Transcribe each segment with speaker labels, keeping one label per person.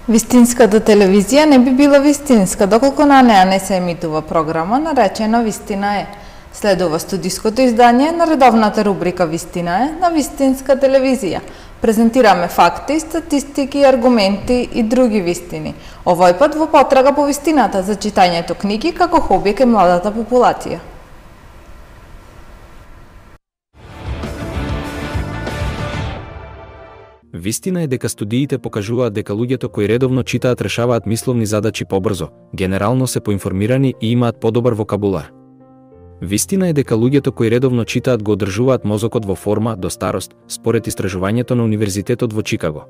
Speaker 1: Вистинската телевизија не би била вистинска доколку на неа не се емитува програма наречена Вистина е. Следува студиското издание на редовната рубрика Вистина е на Вистинска телевизија. Презентираме факти, статистики, аргументи и други вистини. Овој пат во потрага по вистината за читањето книги како хоби кај младата популација.
Speaker 2: Вистина е дека студиите покажуваат дека луѓето кои редовно читаат решаваат мисловни задачи побрзо, генерално се поинформирани и имаат подобар вокабулар. Вистина е дека луѓето кои редовно читаат го одржуваат мозокот во форма до старост, според истражувањето на Универзитетот во Чикаго.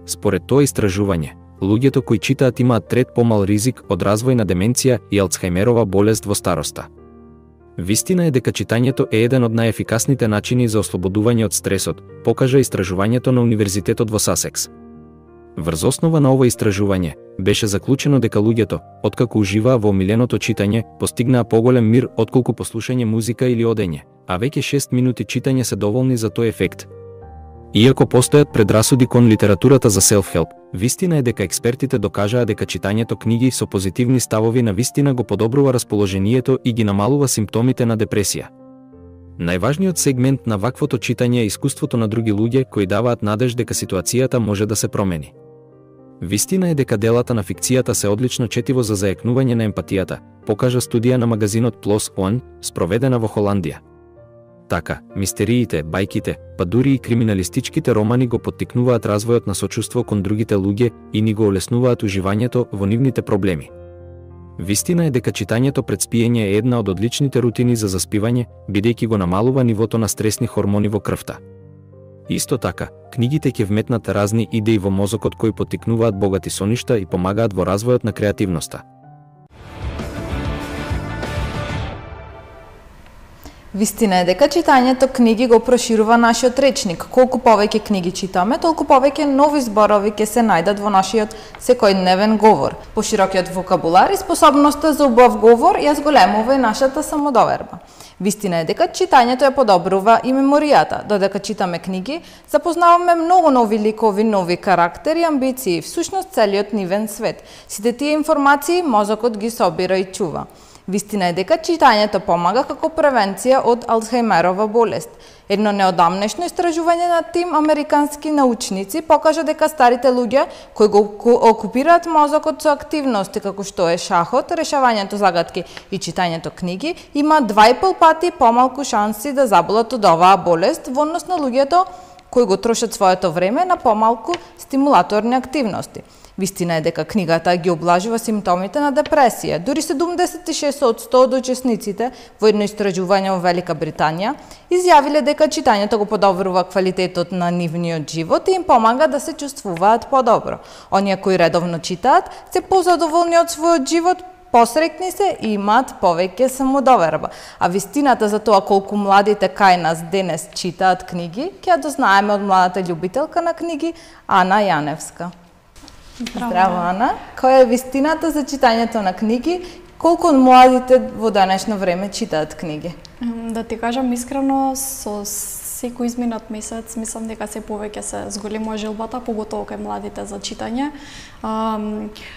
Speaker 2: Според тоа истражување, луѓето кои читаат имаат трет помал ризик од развој на деменција и Алцхајмерова болест во староста. Вистина е дека читањето е еден од најефикасните начини за ослободување од стресот, покажа истражувањето на Универзитетот во Сасекс. Врз основа на ова истражување, беше заклучено дека луѓето, откако уживаа во омиленото читање, постигнаа поголем мир отколку послушање музика или одење, а веќе 6 минути читање се доволни за тој ефект. Иако постојат предрасуди кон литературата за self-help, вистина е дека експертите докажаа дека читањето книги со позитивни ставови на вистина го подобрува расположението и ги намалува симптомите на депресија. Најважниот сегмент на ваквото читање е искуството на други луѓе кои даваат надеж дека ситуацијата може да се промени. Вистина е дека делата на фикцијата се одлично четиво за заекнување на емпатијата, покажа студија на магазинот PLOS ONE, спроведена во Холандија. Така, мистериите, бајките, па дури и криминалистичките романи го поттикнуваат развојот на сочувство кон другите луѓе и ни го олеснуваат уживањето во нивните проблеми. Вистина е дека читањето пред спиење е една од одличните рутини за заспивање, бидејќи го намалува нивото на стресни хормони во крвта. Исто така, книгите ќе вметнат разни идеи во мозокот кои поттикнуваат богати соништа и помагаат во развојот на креативноста.
Speaker 1: Вистина е дека читањето книги го проширува нашиот речник. Колку повеќе книги читаме, толку повеќе нови зборови ќе се најдат во нашиот секојдневен говор. Поширокиот вокабулар и способноста за убав говор ја зголемува и нашата самодоверба. Вистина е дека читањето ја подобрува и меморијата. Додека читаме книги, запознаваме многу нови ликови, нови карактери, амбиции, всушност целиот нивен свет. Сите тие информации мозокот ги собира и чува. Вистина е дека читањето помага како превенција од Алцхајмерова болест. Едно неодамнешно истражување на тим американски научници покажа дека старите луѓе кои го окупираат мозокот со активности како што е шахот, решавањето загадки и читањето книги, имаат 2,5 пати помалку шанси да заболат од оваа болест во однос на луѓето кои го трошат своето време на помалку стимулаторни активности. Вистина е дека книгата ги облажува симптомите на депресија. Дури 76% од учесниците во едно истражување во Велика Британија изјавиле дека читањето го подобрува квалитетот на нивниот живот и им помага да се чувствуваат подобро. Оние кои редовно читаат се позадоволни од својот живот, посреќни се и имаат повеќе самодоверба. А вистината за тоа колку младите кај нас денес читаат книги, ќе ја дознаеме од младата љубителка на книги Ана Јаневска. Здраво, Ана. Која е вистината за читањето на книги? Колку од младите во денешно време читаат книги?
Speaker 3: Да ти кажам искрено, со секој изминат месец, мислам дека се повеќе се зголемува желбата, поготово кај младите за читање.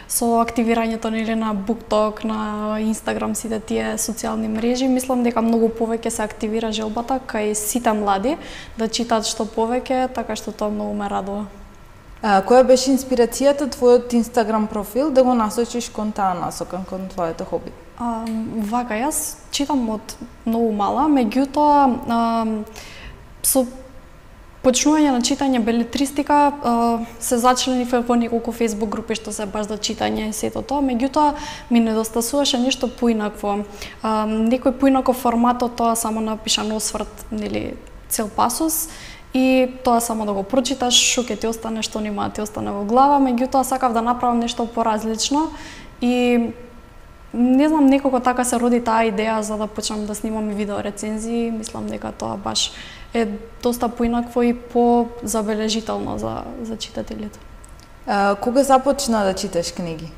Speaker 3: Со активирањето на BookTok, на Instagram, сите тие социјални мрежи, мислам дека многу повеќе се активира желбата кај сите млади да читаат што повеќе, така што тоа многу ме радува.
Speaker 1: Која беше инспирацијата твојот Инстаграм профил да го насочиш кон таа насока, кон твоето хоби?
Speaker 3: Вака, јас читам од многу мала, меѓутоа со почнување на читање белетристика се зачленив во неколку Facebook групи што се баш за читање и сето тоа, меѓутоа ми недостасуваше нешто поинакво. Некој поинаков формат од тоа само напишан осврт, нели, цел пасос, и тоа само да го прочиташ, што ќе ти остане, што нема да ти остане во глава, меѓутоа сакав да направам нешто поразлично и не знам, некако така се роди таа идеја за да почнам да снимам и видео рецензии. Мислам дека тоа баш е доста поинакво и позабележително за читателите.
Speaker 1: Кога започна да читаш книги?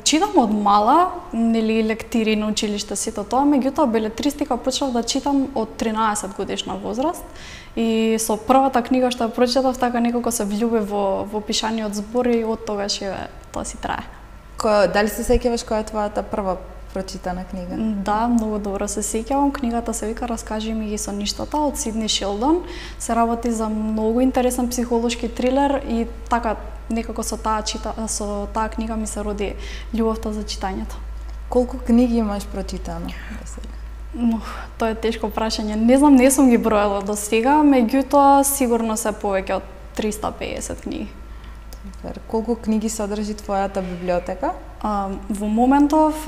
Speaker 3: Читам од мала, нели лектири на училиште сето тоа, меѓутоа белетристика почнав да читам од 13 годишна возраст и со првата книга што ја прочитав така некако се влюбив во пишаниот збор и од тогаш тоа си трае.
Speaker 1: Дали се сеќаваш која е твојата прва прочитана книга?
Speaker 3: Да, многу добро се сеќавам. Книгата се вика "Раскажи ми ги соништата" од Сидни Шилдон. Се работи за многу интересен психолошки трилер и така некако со таа книга ми се роди љубовта за читањето.
Speaker 1: Колку книги имаш прочитано до сега?
Speaker 3: Тоа е тешко прашање. Не знам, не сум ги броела до сега, меѓутоа сигурно се повеќе од 350 книги.
Speaker 1: Колку книги содржи твојата библиотека?
Speaker 3: Во моментов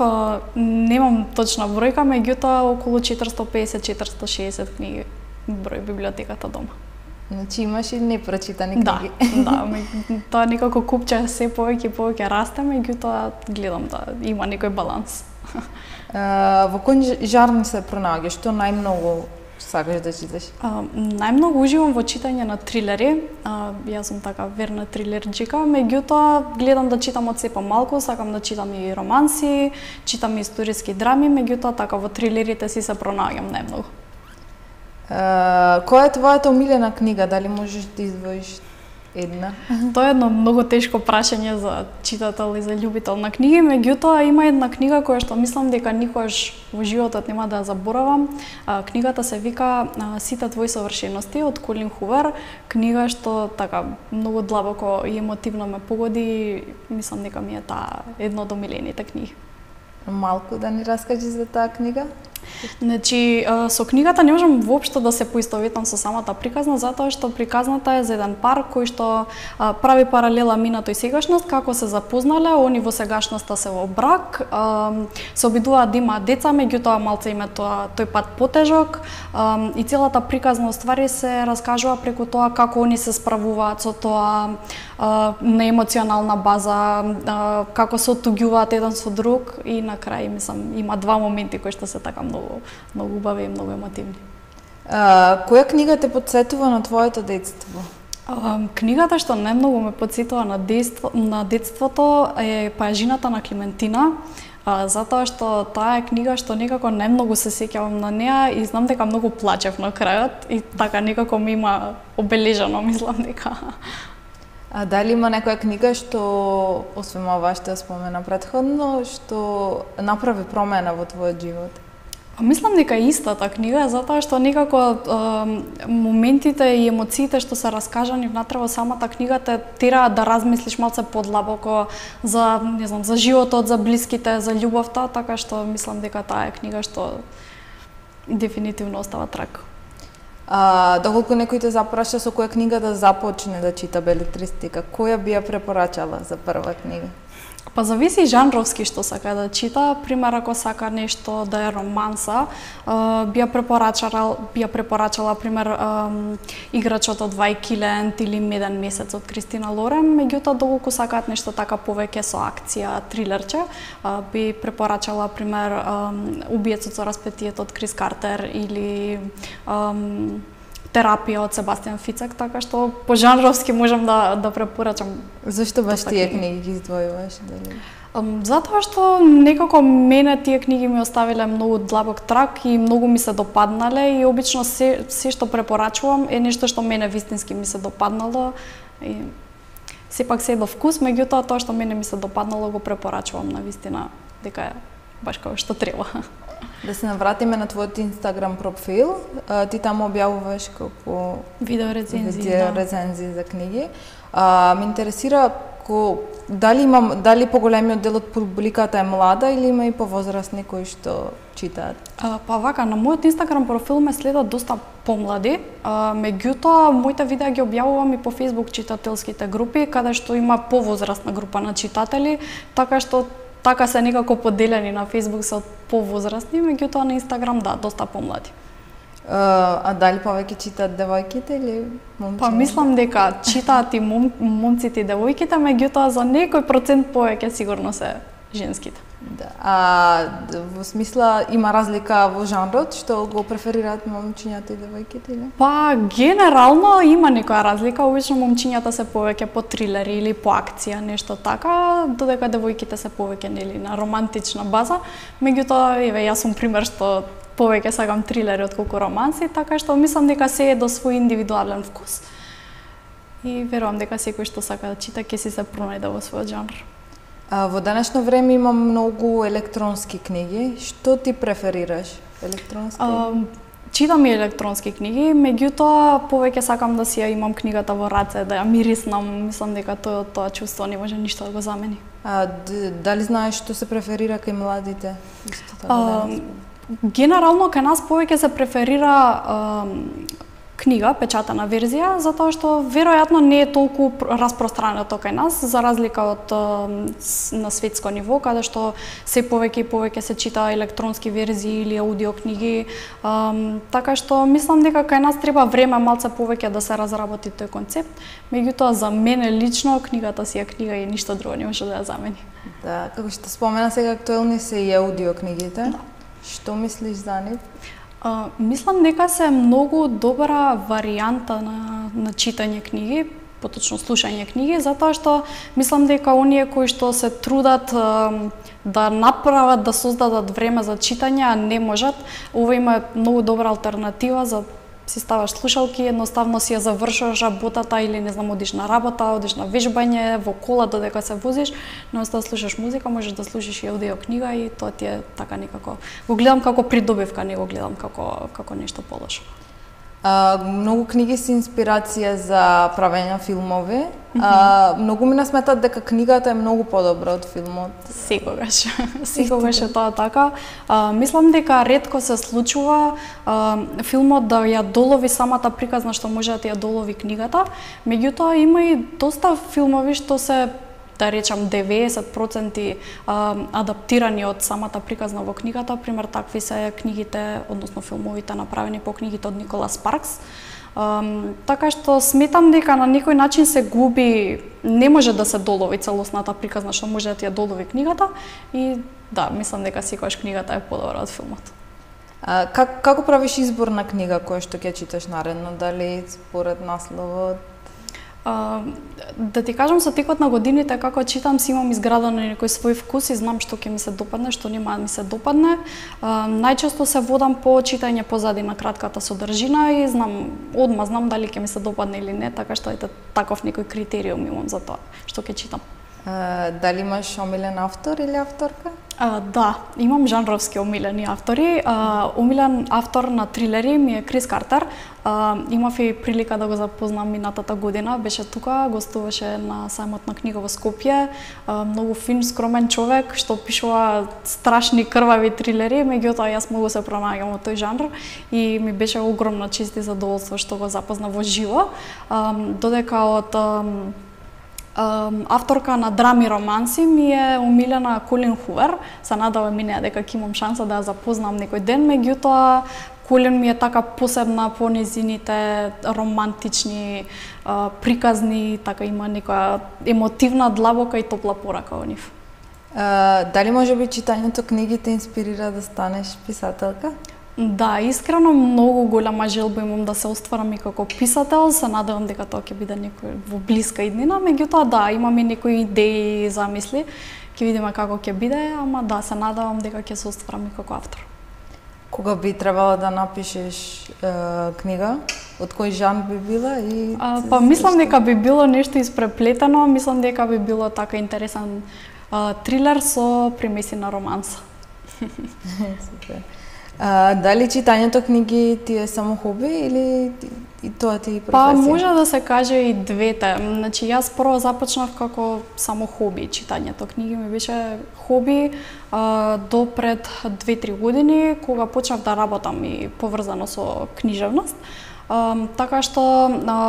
Speaker 3: немам точна бројка, меѓутоа околу 450-460 книги број библиотеката дома.
Speaker 1: Значи имаш и непрочитани книги.
Speaker 3: Да, тоа некако купче се повеќе и повеќе расте, меѓутоа гледам да има некој баланс.
Speaker 1: Во кој жанр се пронаоѓаш? Што најмногу сакаш да читаш?
Speaker 3: Најмногу уживам во читање на трилери. Јас сум така верна трилерџика, меѓутоа гледам да читам од се помалку, сакам да читам и романси, читам и историски драми, меѓутоа така во трилерите си се пронаоѓам најмногу.
Speaker 1: Која е твојата омилена книга? Дали можеш да издвоиш една?
Speaker 3: Тоа е едно многу тешко прашање за читател и за љубител на книги, меѓутоа има една книга која што мислам дека никогаш во животот нема да ја заборавам. Книгата се вика "Сите твои совршености" од Колин Хувер. Книга што така многу длабоко и емотивно ме погоди, мислам дека ми е таа една од омилените книги.
Speaker 1: Малку да ни раскажи за таа книга?
Speaker 3: Значи, со книгата не можам воопшто да се поистоветам со самата приказна, затоа што приказната е за еден пар кој што прави паралела минато и сегашност, како се запознале, они во сегашноста се во брак, се обидуваат да имаат деца, меѓутоа малце им е тој пат потежок и целата приказна уствари се раскажува преку тоа како они се справуваат со тоа на емоционална база, како се оттуѓуваат еден со друг и на крај мислам има два моменти кои што се така многу убави и многу емотивни.
Speaker 1: Која книга те потсетува на твоето детство?
Speaker 3: Книгата што најмногу ме потсетува на детството е Пајажината на Клементина, затоа што таа е книга што некако најмногу се сеќавам на неа и знам дека многу плачев на крајот и така некако ми има обележано, мислам дека.
Speaker 1: А дали има некоја книга што, освен ова што спомена претходно, што направи промена во твојот живот?
Speaker 3: Мислам дека истата книга, затоа што некако моментите и емоциите што се раскажани внатре во самата книга те тераат да размислиш малце подлабоко за, не знам, за животот, за блиските, за љубовта, така што мислам дека таа е книга што дефинитивно остава трак.
Speaker 1: Доколку некој те запраша со која книга да започне да чита белетристика, која би ја препорачала за прва книга?
Speaker 3: Па зависи жанровски што сака да чита. Пример, ако сака нешто да е романса, би ја препорачала пример Играчот од Вајкилент или Меден месец од Кристина Лорен, меѓутоа доколку сакаат нешто така повеќе со акција, трилерче, би препорачала пример Убиецот со распетието од Крис Картер или Терапија од Себастијан Фицек, така што по жанровски можам да препорачам.
Speaker 1: Зашто баш тие книги ги издвојуваш?
Speaker 3: Затоа што некако мене тие книги ми оставиле многу длабок трак и многу ми се допаднале и обично се што препорачувам е нешто што мене вистински ми се допаднало и сепак се до вкус, меѓутоа тоа што мене ми се допаднало го препорачувам на вистина дека е баш како што треба.
Speaker 1: Да се навратиме на твојот Инстаграм профил, ти таму објавуваш како
Speaker 3: видео рецензии
Speaker 1: за книги. Ме интересира дали поголемиот дел од публиката е млада или има и повозрастни кои што читаат?
Speaker 3: Па вака, на мојот Инстаграм профил ме следат доста помлади, меѓутоа моите видеа ги објавувам и по Facebook читателските групи, каде што има повозрастна група на читатели, така што така се некако поделени на Facebook се од повозрастни, меѓутоа на Инстаграм да, доста помлади.
Speaker 1: А дали повеќе читаат девојките или момците?
Speaker 3: Па мислам дека читаат и момците и девојките, меѓутоа за некој процент повеќе сигурно се женските.
Speaker 1: Да. Во смисла има разлика во жанрот што го преферираат момчињата и девојките или?
Speaker 3: Па генерално има некоја разлика, обично момчињата се повеќе по трилери или по акција, нешто така, додека девојките се повеќе нели на романтична база. Меѓутоа, еве јас сум пример што повеќе сакам трилери отколку романси, така што мислам дека се е до свој индивидуален вкус. И верувам дека секој што сака да чита ќе си се пронајде во својот жанр.
Speaker 1: Во денешно време има многу електронски книги. Што ти преферираш? Електронски?
Speaker 3: Читам и електронски книги, меѓутоа повеќе сакам да си ја имам книгата во раце, да ја мириснам. Мислам дека тоа чувство не може ништо да го замени.
Speaker 1: Дали знаеш што се преферира кај младите?
Speaker 3: Генерално кај нас повеќе се преферира книга, печатена верзија, затоа што веројатно не е толку распространето кај нас, за разлика од на светско ниво, каде што се повеќе и повеќе се чита електронски верзии или аудио книги, така што мислам дека кај нас треба време малце повеќе да се разработи тој концепт, меѓутоа за мене лично книгата си е книга и ништо друго не може да ја замени.
Speaker 1: Да, како што спомена сега актуелни се и аудио книгите. Да. Што мислиш за нив?
Speaker 3: Мислам дека се многу добра варијанта на читање книги, поточно слушање книги, затоа што мислам дека оние кои што се трудат да направат, да создадат време за читање, а не можат, ова има многу добра алтернатива за си ставаш слушалки, едноставно си ја завршуваш работата или не знам одиш на работа, одиш на вежбање, во кола додека се возиш, наменто да слушаш музика, можеш да слушаш и аудио книга и тоа ти е така некако. Го гледам како придобивка, не го гледам како нешто полошо.
Speaker 1: Многу книги се инспирација за правење филмови. Многу ми сметат дека книгата е многу подобра од филмот.
Speaker 3: Секогаш. Секогаш е тоа така. Мислам дека ретко се случува филмот да ја долови самата приказна што може да ја долови книгата. Меѓутоа има и доста филмови што се, да речам, 90% адаптирани од самата приказна во книгата. Пример, такви се книгите, односно филмовите направени по книгите од Николас Спаркс. Така што сметам дека на некој начин се губи, не може да се долови целосната приказна што може да ја долови книгата и да, мислам дека секогаш книгата е подобра од филмот.
Speaker 1: Како правиш избор на книга која што ќе читаш наредно? Дали според насловот?
Speaker 3: Да ти кажам, со текот на годините како читам, си имам изградено некој свој вкус и знам што ќе ми се допадне, што нема да ми се допадне. Најчесто се водам по читање позади на кратката содржина и знам дали ќе ми се допадне или не, така што ете таков некој критериум имам за тоа што ќе читам.
Speaker 1: Дали имаш омилен автор или авторка?
Speaker 3: Да, имам жанровски омилени автори. Омилен автор на трилери ми е Крис Картер. Имав и прилика да го запознам минатата година. Беше тука, гостуваше на сајмот на книга во Скопје. Многу фин, скромен човек, што пишува страшни крвави трилери, меѓутоа јас многу се пронаѓам во тој жанр и ми беше огромна чест и задоволство што го запозна во живо. Додека од авторка на драми романси ми е омилена Колин Хувер. Се надевам и неа дека ќе имам шанса да ја запознам некој ден, меѓутоа Колин ми е така посебна по незините романтични приказни, така има некоја емотивна, длабока и топла порака во нив.
Speaker 1: Дали можеби читањето книги те инспирира да станеш писателка?
Speaker 3: Да, искрено многу голема желба имам да се остварам и како писател, се надевам дека тоа ќе биде некој во блиска иднина, меѓутоа да, имам и некои идеи и замисли, ќе видиме како ќе биде, ама да, се надевам дека ќе се остварам и како автор.
Speaker 1: Кога би требало да напишеш книга? Од кој жанр би била?
Speaker 3: Па мислам дека би било нешто испреплетено, мислам дека би било така интересен трилер со примеси на романса.
Speaker 1: Супер. Дали читањето книги ти е само хоби или и тоа ти е професија?
Speaker 3: Па може да се каже и двете. Значи јас прво започнав како само хоби, читањето книги ми беше хоби до пред 2-3 години кога почнав да работам и поврзано со книжевност. Така што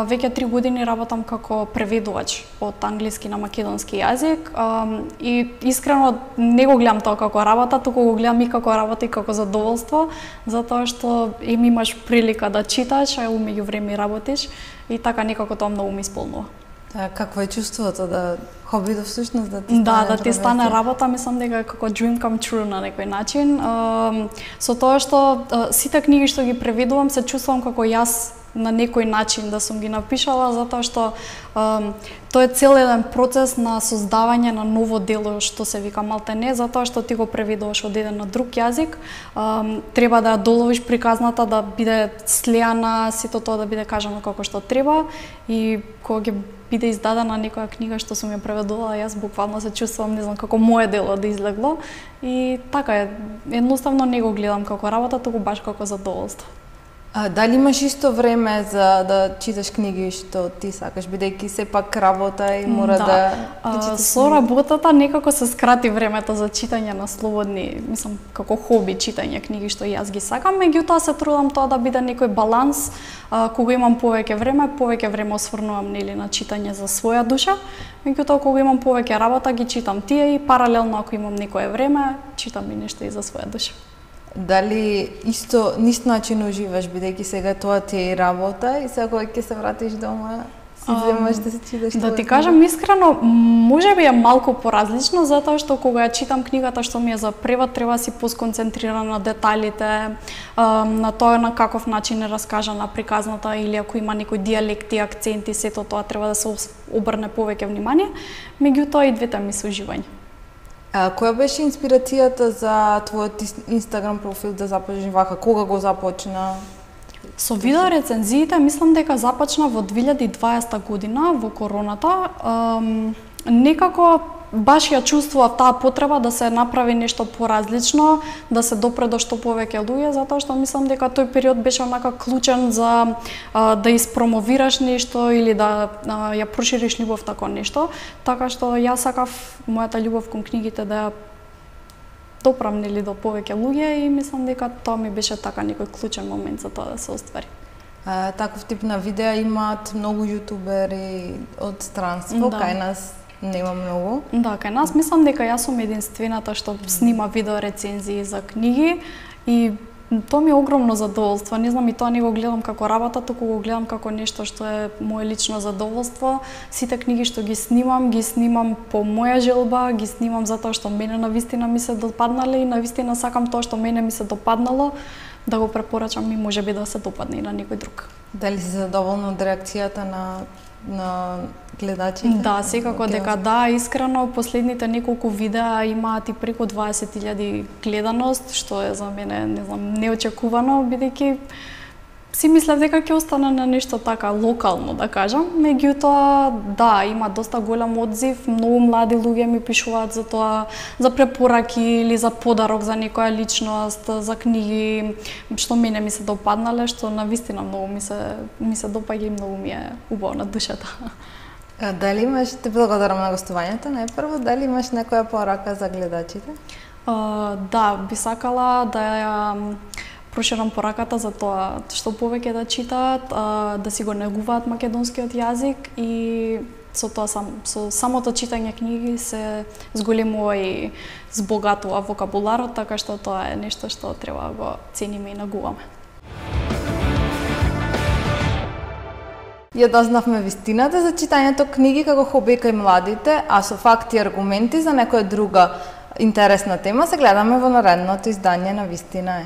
Speaker 3: веќе 3 години работам како преведувач од англиски на македонски јазик и искрено не го гледам тоа како работа, туку го гледам и како работа и како задоволство, затоа што им имаш прилика да читаш, а умеѓу време работиш и така некако тоа многу ми исполнува.
Speaker 1: Какво е чувството да хобито всушност да ти стане
Speaker 3: да ти стане работа, мислам дека е како dream come true на некој начин. Со тоа што сите книги што ги преведувам се чувствувам како јас на некој начин да сум ги напишала, затоа што тоа е цел еден процес на создавање на ново дело што се вика малтене, затоа што ти го преведуваш од еден на друг јазик, треба да ја доловиш приказната да биде слеана, сето тоа да биде кажано како што треба и кога ќе биде издадена некоја книга што сум ја преведувала, јас буквално се чувствувам, не знам, како мое дело да излегло и така е, едноставно не го гледам како работа, туку баш како задоволство.
Speaker 1: Дали имаш исто време за да читаш книги што ти сакаш, бидејќи сепак работа и мора да
Speaker 3: со работата некако се скрати времето за читање на слободни, мислам, како хоби читање книги што јас ги сакам, меѓутоа се трудам тоа да биде некој баланс, кога имам повеќе време осврнувам нели на читање за своја душа, меѓутоа кога имам повеќе работа ги читам тие и паралелно ако имам некое време, читам и нешто и за своја душа.
Speaker 1: Дали исто нист начин уживаш, бидејќи сега тоа ти е и работа и сега кога ќе се вратиш дома си земаш да се читаш?
Speaker 3: Да ти кажам искрено, можеби е малку поразлично, затоа што кога ја читам книгата што ми е за превод, треба си посконцентрирана на деталите, на тоа на каков начин е раскажана приказната или ако има некои дијалекти, акценти, сето тоа треба да се обрне повеќе внимание, меѓутоа и двете ми се уживање.
Speaker 1: Која беше инспирацијата за твојот Инстаграм профил да започнеш вака? Кога го започна?
Speaker 3: Со видео рецензиите мислам дека започна во 2020 година во короната. Некако баш ја чувствував таа потреба да се направи нешто поразлично, да се допре до што повеќе луѓе, затоа што мислам дека тој период беше онака клучен за да испромовираш нешто или да ја прошириш љубовта кон нешто, така што јас сакав мојата љубов кон книгите да ја допрам нели до повеќе луѓе и мислам дека тоа ми беше така некој клучен момент за тоа да се оствари.
Speaker 1: Таков тип на видеа имаат многу јутубери од странство, кај нас нема многу.
Speaker 3: Да, кај нас мислам дека јас сум единствената што снима видео рецензии за книги и тоа ми е огромно задоволство. Не знам, и тоа не го гледам како работа, туку го гледам како нешто што е мое лично задоволство. Сите книги што ги снимам по моја желба, ги снимам затоа што мене навистина ми се допаднале и навистина сакам тоа што мене ми се допаднало да го препорачам и можеби да се допадне и на некој друг.
Speaker 1: Дали си задоволна од реакцијата на гледачите?
Speaker 3: Да, секако дека да, искрено последните неколку видеа имаат и преку 20.000 гледаност, што е за мене, не знам, неочекувано, бидејќи си мислев дека ќе остане на нешто така локално, да кажам. Меѓутоа, да, има доста голем одзив, многу млади луѓе ми пишуваат за тоа, за препораки или за подарок за некоја личност, за книги што мене ми се допаднале, што навистина многу ми се допаѓа и многу ми е убаво на душата.
Speaker 1: Дали имаш, те благодарам на гостувањето, најпрво, дали имаш некоја порака за гледачите?
Speaker 3: Да, би сакала да ја проширам пораката за тоа што повеќе да читаат, да си го негуваат македонскиот јазик и со тоа со самото читање книги се зголемува и збогатува вокабуларот, така што тоа е нешто што треба да го цениме и негуваме.
Speaker 1: Ја дознавме вистината за читањето книги како хоби кај младите, а со факти и аргументи за некоја друга интересна тема се гледаме во наредното издание на Вистина е.